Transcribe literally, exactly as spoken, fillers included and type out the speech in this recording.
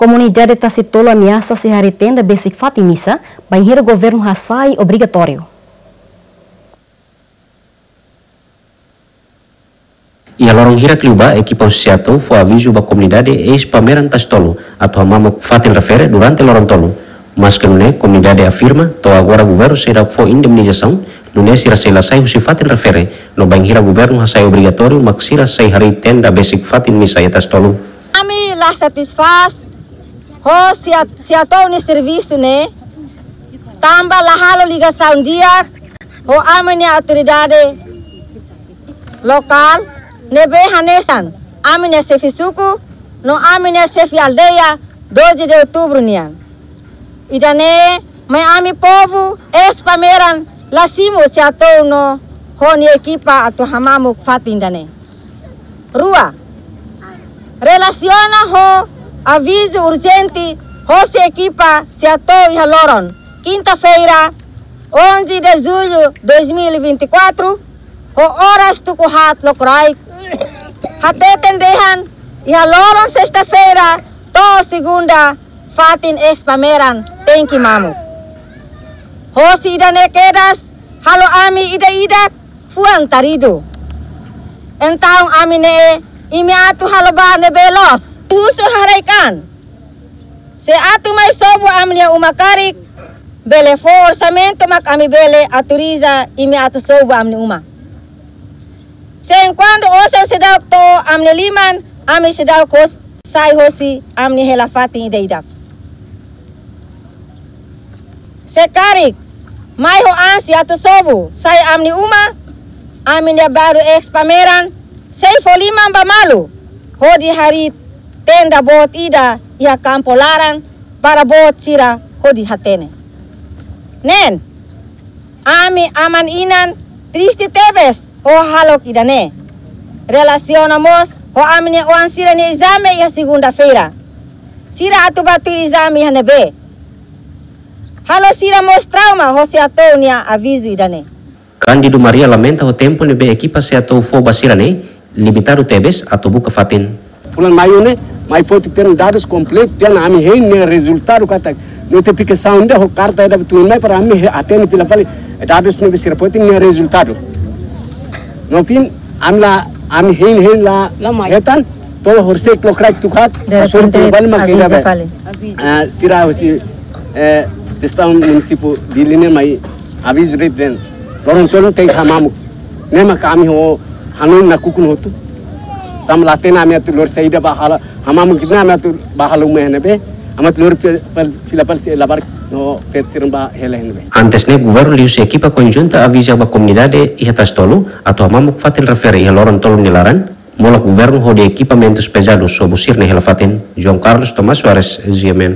Komunidade Tasitolu ameasa sei harii tenda besik fatin misa, bainhira governu hasai obrigatóriu. Iha loron hirak liubá, ekipa husi SEATOU fó avizu ba komunidade eis Pameran Tasitolu atu hamamuk fatin refere durante loron tolu. Maske nune'e, komunidade afirma, to'o agora governu seidauk fó indemnizasaun, nune'e sira sei la sai husi fatin refere, no bainhira governu hasai obrigatóriu mak sira sei harii tenda besik fatin misa iha Tasitolu. Ami la satisfás ho SEA-, SEATOU nia servisu ne'e, tanba la halo ligasaun di'ak ho ami-nia autoridade lokál, ne'ebé hanesan ami-nia xefe suku no ami-nia xefe aldeia doze de outubro nian. Ida-ne'e mai ami povu eis Pameran la simu SEATOU no ho nia ekipa atu hamamuk fatin ida-ne'e. Rua, relasiona ho avizu urjente hosi ekipa SEATOU iha loron kinta-feira, onze de julho dois mil e vinte e quatro, ho oras tuku haat lokraik, hateten dehan iha loron sesta-feira to'o segunda fatin eis Pameran tenke mamuk. Hosi ida-ne'e kedas halo ami ida-idak fuan taridu. Entaun ami ne'e imi atu halo ba ne'ebé loos. Husu haraik-an. Se atu mai sobu ami-nia uma karik, bele fó orsamentu mak ami bele autoriza imi atu sobu ami-nia uma. Se enkuantu osan seidauk to'o ami-nia liman, ami seidauk hos-, sai hosi ami-nia hela fatin ida-idak. Se karik mai ho ansi atu sobu sai ami-nia uma, ami-nia balu eis Pameran sei fó liman ba malu hodi harii tenda boot ida iha kampu laran para boot sira hodi hatene. Neen, ami aman-inan triste tebes ho hahalok ida-ne'e. Relasiona mós ho ami-nia oan sira-nia ezame iha segunda-feira. Sira atu bá tuir ezame iha ne'ebé? Halo sira mós trauma ho SEATOU nia avizu ida-ne'e. Cândido Maria lamenta ho tempu ne'ebé ekipa SEATOU fó ba sira-ne'e limitadu tebes atu buka fatin. Fulan Maiu ne'e, mai foti tiha ona dadus kompletu, tiha ona ami hein nia rezultadu katak. No notifikasaun ida ho karta ida betul mai para ami he-, hatene fila fali dadus ne'ebé sira foti nia rezultadu. No fim, ami la, ami hein hein la, la mai hetan, to'o horisehik lokraik tuku haat, de repente, avizu fali. Ah, sira husi, eh, jestaun munisípiu Dili ne'e mai avizu de'it dehan loron tolu tenke hamamuk. Ne'e mak ami ho hanoin nakukun hotu. Tanba la hatene ami atu lori saida bá halo, hamamuk ne'e ami atu bá halo uma iha ne'ebé, ami atu lori fil-, fil-, fila fali sira labarik no feto sira bá hela iha ne'ebé. Antes ne'e governu liuhusi ekipa konjunta aviza ba komunidade iha Tasitolu atu hamamuk fatin refere iha loron tolu nia laran, molok governu hodi ekipamentus pezadus sobu sira-nia hela fatin. João Carlos Tomás Soares, G M N.